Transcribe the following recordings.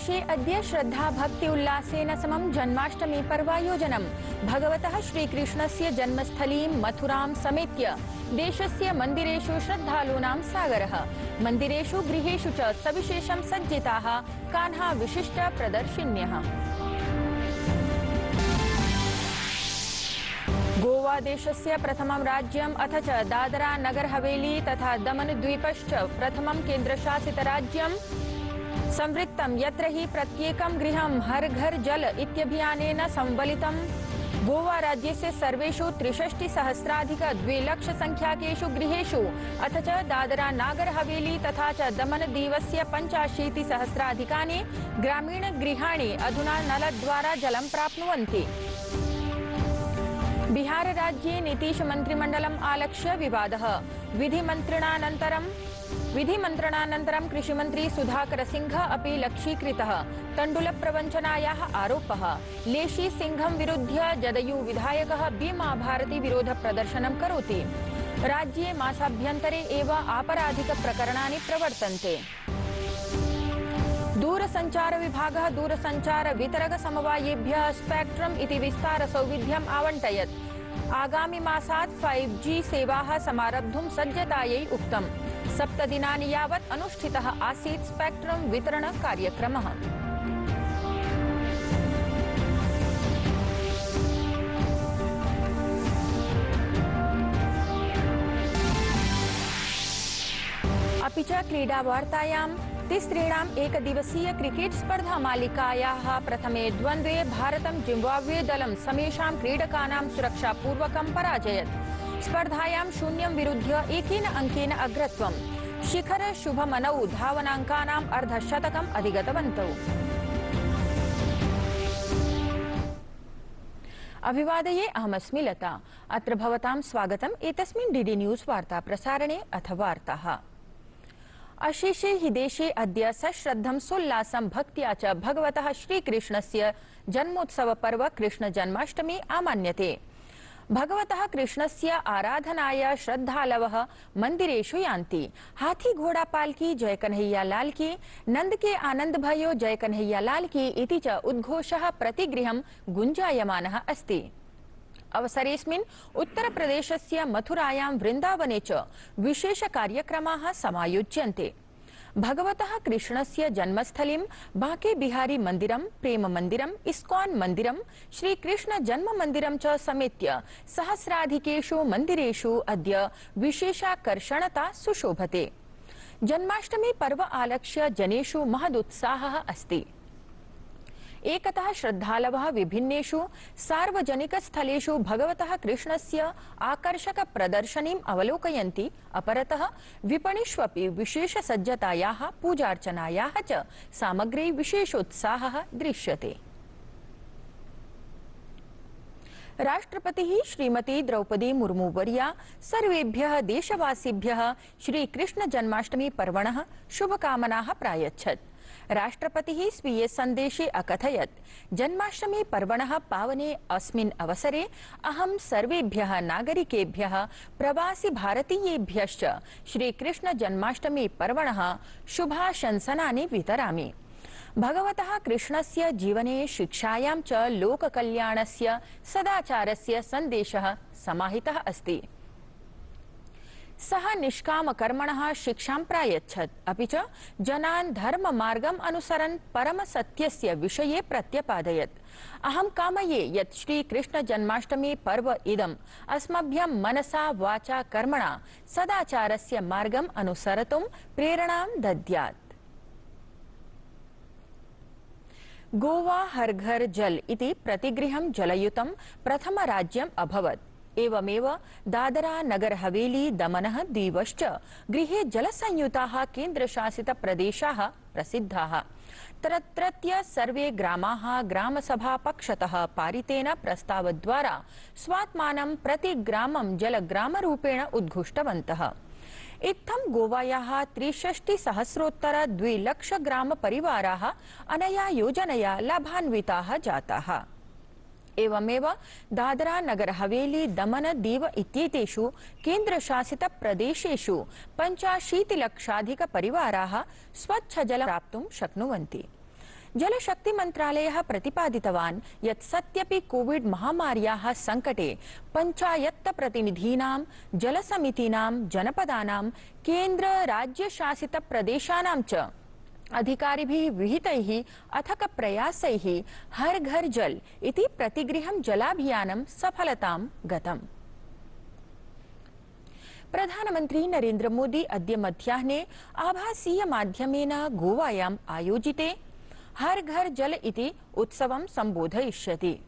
देशे अद्य श्रद्धा भक्ति उल्लासेन समं जन्माष्टमी पर्वायोजनम्। भगवतः श्रीकृष्णस्य जन्मस्थलीं मथुरां समेत्य देशस्य मन्दिरेषु श्रद्धालूनां सागरः। मन्दिरेषु गृहेषु च सविशेषं सज्जिताः कान्हा विशिष्ट प्रदर्शिन्यः। गोवा देशस्य प्रथमं राज्यम् अथ च दादरा नगर हवेली तथा दमन द्वीपश्च प्रथमं केन्द्रशासित राज्यम् संवृत्तं, यत्र हि प्रत्येकं गृहं हर घर जल इत्यभियानेन संवलितम्। गोवा राज्यस्य सर्वेषु 63,000 संख्याकेषु गृहेषु अथ च दादरा नागर हवेली तथा च दमन दीवस्य 85,000 ग्रामीण गृहाणि अधुना नलद्वारा जलं प्राप्नुवन्ति। बिहार राज्ये नीतीश मन्त्रिमण्डलम् आलक्ष्य विवादः। विधिमन्त्रणानन्तरं कृषिमन्त्री सुधाकर सिंह अपि लक्ष्यीकृतः। तण्डुल प्रवञ्चनायाः आरोपः। लेशी सिंहं विरुध्य जदयू विधायकः बीमा भारती विरोध प्रदर्शनं करोति। राज्ये मासाभ्यन्तरे एव आपराधिक प्रकरणानि प्रवर्तन्ते। दूरसञ्चार विभागः दूरसञ्चार वितरक समवायेभ्यः स्पेक्ट्रम इति विस्तार सौविध्यम् आवण्टयत्। आगामि मासात् 5G सेवाः समारब्धुं सज्जतायै उक्तम्। 7 दिनानि यावत् अनुष्ठितः आसीत् स्पेक्ट्रम वितरण कार्यक्रमः। अपि च क्रीडावार्तायां तिसृणाम् एकदिवसीय क्रिकेट स्पर्धा मालिकायाः प्रथमे द्वन्द्वे भारतं जिम्बाब्वे दलं समेषां क्रीडकानां सुरक्षापूर्वकं पराजयत्। स्पर्धायां 0 विरुध्य 1 अंकेन अग्रत्वम्। शिखर शुभमनौ धावनाङ्कानाम् अर्धशतकम् अधिगतवन्तौ। अभिवादये, अहमस्मि लता। अत्र भवतां स्वागतम् एतस्मिन् डीडी न्यूज़ वार्ता प्रसारणे अथ वार्ताः। अशेषे हि देशे अद्य सश्रद्धं सोल्लासं भक्त्या च भगवतः श्रीकृष्णस्य जन्मोत्सव पर्व कृष्ण जन्माष्टमी आमान्यते। भगवतः कृष्णस्य आराधनाय श्रद्धालवः मन्दिरेषु यान्ति। हाथी घोड़ा पालकी जय कन्हैया लाल की, नंद के आनंद भयो जय कन्हैया लाल की इति च उद्घोषः प्रतिगृहं गुञ्जायमानः अस्ति। अवसरेऽस्मिन् उत्तरप्रदेशस्य मथुरायां वृन्दावने च विशेष कार्यक्रमाः समायोज्यन्ते। भगवतः कृष्णस्य जन्मस्थलीं बांके बिहारी मन्दिरं, प्रेम मन्दिरं, इस्कॉन मन्दिरं, श्रीकृष्ण जन्म मन्दिरं च समेत्य सहस्राधिकेषु मन्दिरेषु अद्य विशेषाकर्षणता सुशोभते। जन्माष्टमी पर्व आलक्ष्य जनेषु महदुत्साहः अस्ति। एकतः श्रद्धालवः विभिन्नेषु सार्वजनिकस्थलेषु भगवतः कृष्णस्य आकर्षक प्रदर्शनीम् अवलोकयन्ति। अपरतः विपणिष्वपि विशेषसज्जतायाः पूजार्चनायाः च सामग्री विशेषोत्साहः दृश्यते। राष्ट्रपतिः श्रीमती द्रौपदी मुर्मू वर्या सर्वेभ्यः देशवासिभ्यः श्रीकृष्ण जन्माष्टमी पर्वणः शुभकामनाः प्रायच्छत्। राष्ट्रपतिः स्वीये सन्देशे अकथयत्, जन्माष्टमी पर्वणः पावने अस्मिन् अवसरे अहं सर्वेभ्यः नागरिकेभ्यः प्रवासी भारतीयेभ्यश्च श्रीकृष्ण जन्माष्टमी पर्वणः शुभाशंसनानि वितरामि। भगवतः कृष्णस्य जीवने शिक्षायां च लोककल्याणस्य सदाचारस्य सन्देशः समाहितः अस्ति। सः निष्कामकर्मणः शिक्षां प्रायच्छत्, अपि च जनान् धर्ममार्गम् अनुसरन् परमसत्यस्य विषये प्रत्यपादयत्। अहं कामये यत् श्रीकृष्ण जन्माष्टमी पर्व इदम् अस्मभ्यं मनसा वाचा कर्मणा सदाचारस्य मार्गम् अनुसरतुं प्रेरणां दद्यात्। गोवा हर घर जल इति प्रतिगृहं जलयुतं प्रथम राज्यम् अभवत्। एवमेव दादरा नगर हवेली दमनः दीवश्च गृहे जलसंयुताः केन्द्रशासित प्रदेशाः प्रसिद्धाः। तत्रत्य सर्वे ग्रामाः ग्रामसभा पक्षतः पारितेन प्रस्तावद्वारा स्वात्मानं प्रति ग्रामं जलग्रामरूपेण उद्घुष्टवन्तः। इत्थं गोवायाः 63,000 2 ग्रामपरिवाराः अनया योजनया लाभान्विताः जाताः। एवमेव दादरा नगर हवेली दमन दीव इत्येतेषु केन्द्रशासित प्रदेशेषु 85 लक्षाधिक परिवाराः स्वच्छ जलं प्राप्तुं शक्नुवन्ति। जलशक्ति मन्त्रालयः प्रतिपादितवान् यत् सत्यपि कोविड महामार्याः सङ्कटे पञ्चायत्त प्रतिनिधीनां, जलसमितीनां, जनपदानां, केन्द्र राज्यशासित प्रदेशानां च अधिकारिभिः विहितैः अथक प्रयासैः हर घर जल इति प्रतिगृहं जलाभियानं सफलतां गतम्। प्रधानमन्त्री नरेन्द्र मोदी अद्य मध्याह्ने आभासीय माध्यमेन गोवायाम् आयोजिते हर घर जल इति उत्सवं सम्बोधयिष्यति।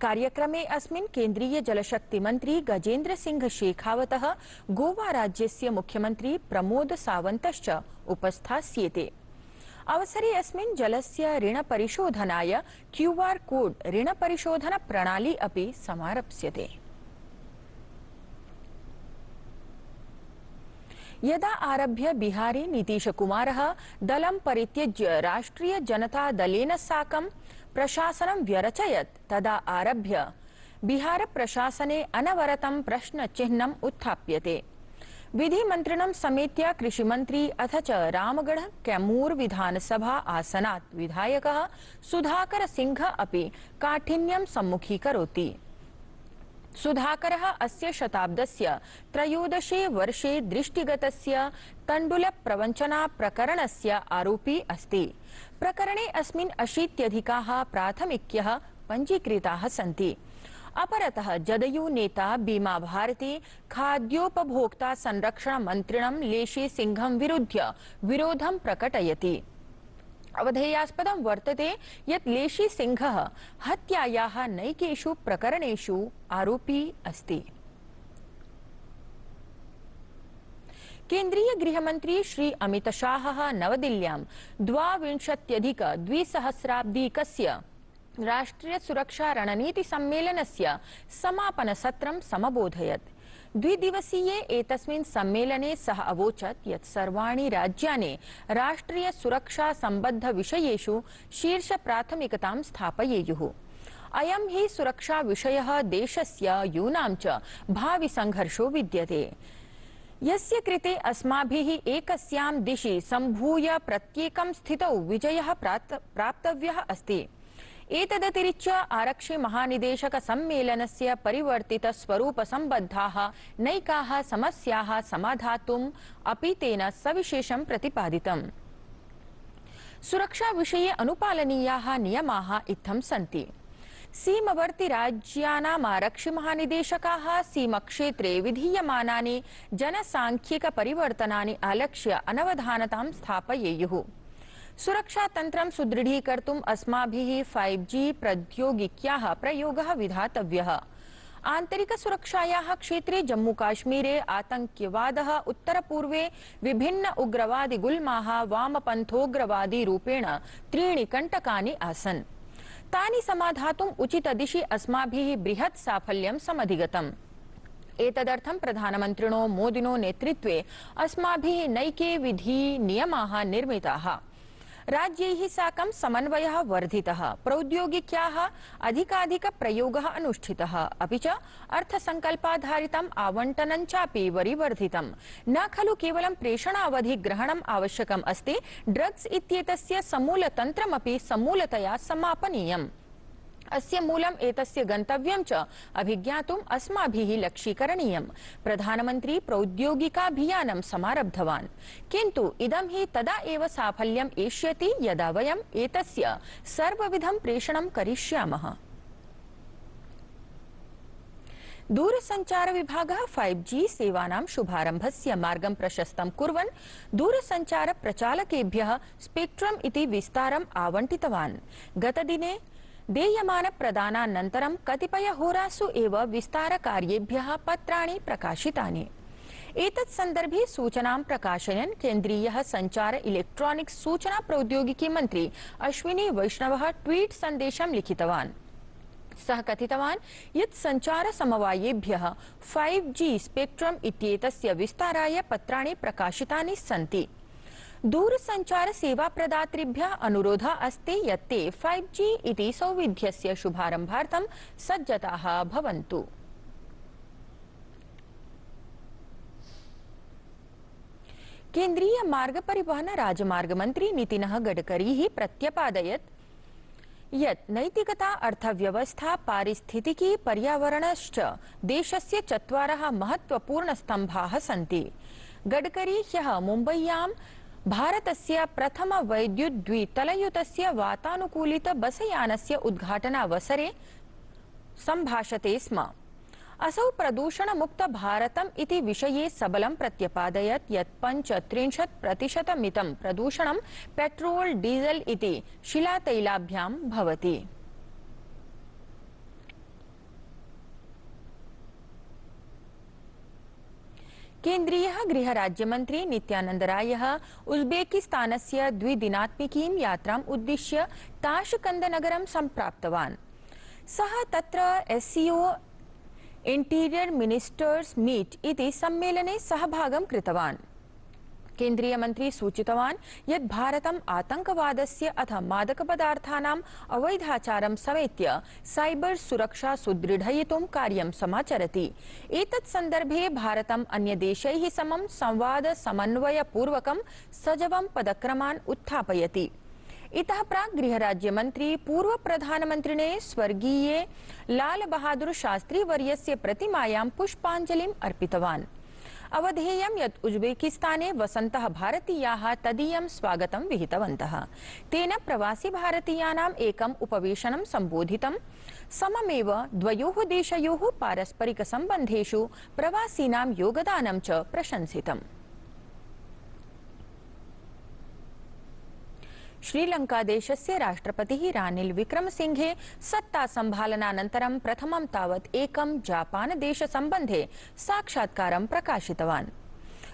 कार्यक्रमे अस्मिन् केन्द्रीय जलशक्ति मन्त्री गजेन्द्र सिंह शेखावतः, गोवा राज्यस्य मुख्यमन्त्री प्रमोद सावन्तश्च उपस्थास्येते। अवसरे अस्मिन् जलस्य ऋण परिशोधनाय QR कोड ऋण परिशोधन प्रणाली अपि समारप्स्यते। यदा आरभ्य बिहारे नीतीश कुमारः दलं परित्यज्य राष्ट्रिय जनता दलेन साकं प्रशासनं व्यरचयत्, तदा आरभ्य बिहार प्रशासने अनवरतं प्रश्नचिह्नम् उत्थाप्यते। विधिमन्त्रिणं समेत्य कृषिमन्त्री अथ च रामगढ़ कैमूर विधानसभा आसनात् विधायकः सुधाकर सिंह अपि काठिन्यं सम्मुखीकरोति। सुधाकरः अस्य शताब्दस्य 13 वर्षे दृष्टिगतस्य तण्डुल प्रवञ्चना प्रकरणस्य आरोपी अस्ति। प्रकरणे अस्मिन् 80+ प्राथमिक्यः पञ्जीकृताः सन्ति। अपरतः जदयू नेता बीमा भारती खाद्योपभोक्ता संरक्षण मन्त्रिणं लेशी सिंहं विरुध्य विरोधं प्रकटयति। अवधेयास्पदं वर्तते यत् लेशी सिंहः हत्यायाः नैकेषु प्रकरणेषु आरोपी अस्ति। केन्द्रीय गृहमन्त्री श्री अमित शाहः नवदिल्ल्यां 22-द्विसहस्राब्दीकस्य राष्ट्रिय सुरक्षा रणनीति सम्मेलनस्य समापन सत्रं समबोधयत्। द्विदिवसीये एतस्मिन् सम्मेलने सः अवोचत् यत् सर्वाणि राज्यानि राष्ट्रिय सुरक्षा सम्बद्ध विषयेषु शीर्ष प्राथमिकतां स्थापयेयुः। अयं हि सुरक्षा विषयः देशस्य यूनां च भावि संघर्षो विद्यते, यस्य कृते अस्माभिः एकस्यां दिशि सम्भूय प्रत्येकं स्थितौ विजयः प्राप्तव्यः अस्ति। एतदतिरिच्य आरक्षि महानिदेशक सम्मेलनस्य परिवर्तित स्वरूप सम्बद्धाः नैकाः समस्याः समाधातुम् अपि तेन सविशेषं प्रतिपादितम्। सुरक्षा विषये अनुपालनीयाः नियमाः इत्थं सन्ति। सीमवर्ति राज्यानाम् आरक्षि महानिदेशकाः सीमक्षेत्रे विधीयमानानि जनसांख्यिक परिवर्तनानि आलक्ष्य अनवधानतां स्थापयेयुः। सुरक्षा तंत्रं सुदृढीकर्तुम् अस्माभिः 5G प्रौद्योगिक्याः प्रयोगः विधातव्यः। आन्तरिक सुरक्षायाः क्षेत्रे जम्मूकाश्मीरे आतङ्क्यवादः उत्तरपूर्वे विभिन्न उग्रवादी गुल्माः वामपन्थोग्रवादी रूपेण 3 कण्टकानि आसन्। तानि समाधातुम् उचितदिशि अस्माभिः बृहत् साफल्यं समधिगतम्। एतदर्थं प्रधानमन्त्रिणो मोदिनो नेतृत्वे अस्माभिः नैके विधि नियमाः निर्मिताः। राज्यैः साकं समन्वयः वर्धितः, प्रौद्योगिक्याः अधिकाधिक प्रयोगः अनुष्ठितः, अपि च अर्थसङ्कल्पाधारितम् आवण्टनं चापि वरिवर्धितम्। न खलु केवलं प्रेषणावधिग्रहणम् आवश्यकम् अस्ति, ड्रग्स् इत्येतस्य समूलतन्त्रमपि समूलतया समापनीयम्। अस्य मूलम् एतस्य गन्तव्यं च अभिज्ञातुम् अस्माभिः लक्ष्यीकरणीयम्। प्रधानमन्त्री प्रौद्योगिकाभियानं समारब्धवान्, किन्तु इदं हि तदा एव साफल्यम् एष्यति यदा वयम् एतस्य सर्वविधं प्रेषणं करिष्यामः। दूरसञ्चार विभागः 5G सेवानां शुभारम्भस्य मार्गं प्रशस्तं कुर्वन् दूरसञ्चार प्रचालकेभ्यः स्पेक्ट्रम् इति विस्तारम् आवण्टितवान्। गतदिने देयमान प्रदानानन्तरं कतिपयहोरासु एव विस्तारकार्येभ्यः पत्राणि प्रकाशितानि। एतत् सन्दर्भे सूचनां प्रकाशयन् केन्द्रीयः सञ्चार इलेक्ट्रॉनिक्स् सूचना प्रौद्योगिकी मन्त्री अश्विनी वैष्णवः ट्वीट सन्देशं लिखितवान्। सः कथितवान् यत् सञ्चार समवायेभ्यः 5G स्पेक्ट्रम् इत्येतस्य विस्ताराय पत्राणि प्रकाशितानि सन्ति। दूरसञ्चार सेवा प्रदातृभ्यः अनुरोधः अस्ति यत् ते 5G इति सौविध्यस्य शुभारम्भार्थं सज्जताः भवन्तु। केन्द्रीय मार्ग परिवहन राजमार्ग मंत्री नितिनः गडकरी प्रत्यपादयत् यत् नैतिकता, अर्थव्यवस्था, पारिस्थितिकी, पर्यावरणश्च देशस्य चत्वारः महत्त्वपूर्णस्तम्भाः सन्ति। गडकरी ह्यः मुम्बय्यां भारतस्य प्रथम वैद्युद्द्वितलयुतस्य वातानुकूलित बसयानस्य उद्घाटनावसरे सम्भाषते स्म। असौ प्रदूषणमुक्त भारतम् इति विषये सबलं प्रत्यपादयत् यत् 35% प्रदूषणं पेट्रोल डीजल इति शिलातैलाभ्यां भवति। केन्द्रीय गृह राज्यमंत्री नित्यानंद रायः उज्बेकिस्तानस्य द्विदिनात्मिकीं यात्राम् उद्दिश्य ताशकंद नगरं सम्प्राप्तवान्। सः तत्र SCO इंटीरियर मिनिस्टर्स मीट इति सम्मेलने सहभागं कृतवान्। केन्द्रीय मंत्री सूचितवान् यत् भारतम् आतंकवादस्य अथ मादकपदार्थानाम् अवैधाचारं समेत्य साइबर सुरक्षा सुदृढयितुं कार्यं समाचरति। एतत् सन्दर्भे भारतम् अन्यदेशैः समं संवाद समन्वयपूर्वकं सजवं पदक्रमान् उत्थापयति। इतः प्राक् गृहराज्यमन्त्री पूर्व प्रधानमन्त्रिणे स्वर्गीये लाल बहादुर शास्त्री वर्यस्य प्रतिमायां पुष्पाञ्जलिम् अर्पितवान्। अवधेयं यत् उज्बेकिस्ताने वसन्तः भारतीयाः तदीयं स्वागतं विहितवन्तः। तेन प्रवासी भारतीयानाम् एकम् उपवेशनं सम्बोधितं। सममेव द्वयोः देशयोः पारस्परिक सम्बन्धेषु प्रवासीनां योगदानं च प्रशंसितम्। श्रीलंका देशस्य राष्ट्रपतिः रानिल विक्रमसिंघे सत्ता सम्भालनानन्तरं प्रथमं तावत् एकं जापान देश सम्बन्धे साक्षात्कारं प्रकाशितवान्।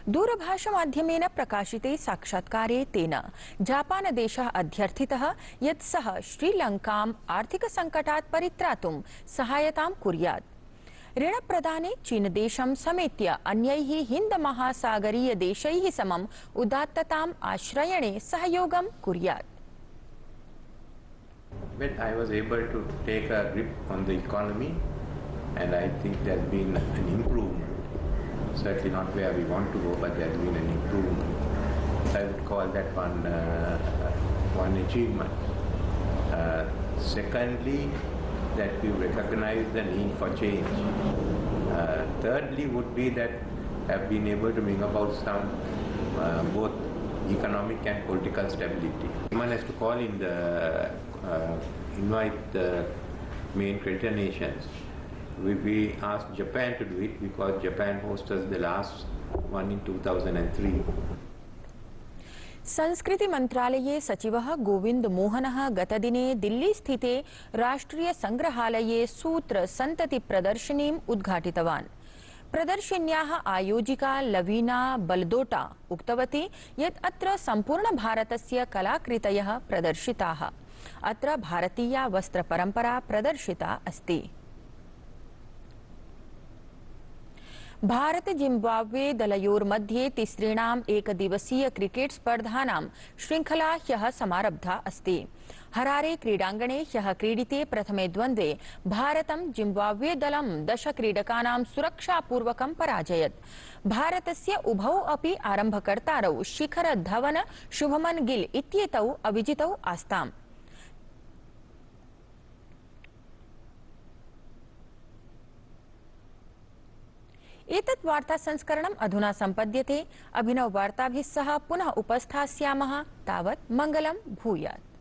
दूरभाषमाध्यमेन प्रकाशिते साक्षात्कारे तेन जापान देशः अध्यर्थितः यत् सः श्रीलंकाम् आर्थिकसङ्कटात् परित्रातुं सहायतां कुर्यात्। ऋणप्रदाने चीनदेशं समेत्य अन्यैः हिन्दमहासागरीयदेशैः समम् उदात्तताम् आश्रयणे सहयोगं कुर्यात्। When I was able to take a grip on the economy, and I think there's been an improvement, certainly not where we want to go, but there's been an improvement. I would call that one achievement. Secondly, that we recognize the need for change. Thirdly would be that have been able to bring about some both economic and political stability. One has to call in the invite the main creditor nations. We asked Japan to do it because Japan hosted the last one in 2003. संस्कृति मंत्रालये सचिवः गोविंद मोहनः गतदिने दिल्ली स्थिते राष्ट्रिय संग्रहालये सूत्र संतति प्रदर्शनीम् उद्घाटितवान्। प्रदर्शन्याः आयोजिका लवीना बलदोटा उक्तवती यत् अत्र सम्पूर्ण भारतस्य कलाकृतयः प्रदर्शिताः। अत्र भारतीया वस्त्रपरम्परा प्रदर्शिता अस्ति। भारत जिम्बाब्वे दलयोर्मध्ये तिसृणाम् एकदिवसीय क्रिकेट स्पर्धानां श्रृंखला ह्यः समारब्धा अस्ति। हरारे क्रीडाङ्गणे ह्यः क्रीडिते प्रथमे द्वन्द्वे भारतं जिम्बाब्वे दलं 10 क्रीडकानां सुरक्षापूर्वकं पराजयत्। भारतस्य उभौ अपि आरम्भकर्तारौ शिखर धवन शुभमन गिल इत्येतौ अविजितौ आस्ताम्। एतत् वार्ता संस्करणम् अधुना सम्पद्यते। अभिनव वार्ताभिः सह पुनः उपस्थास्यामः। तावत् मङ्गलं भूयात्।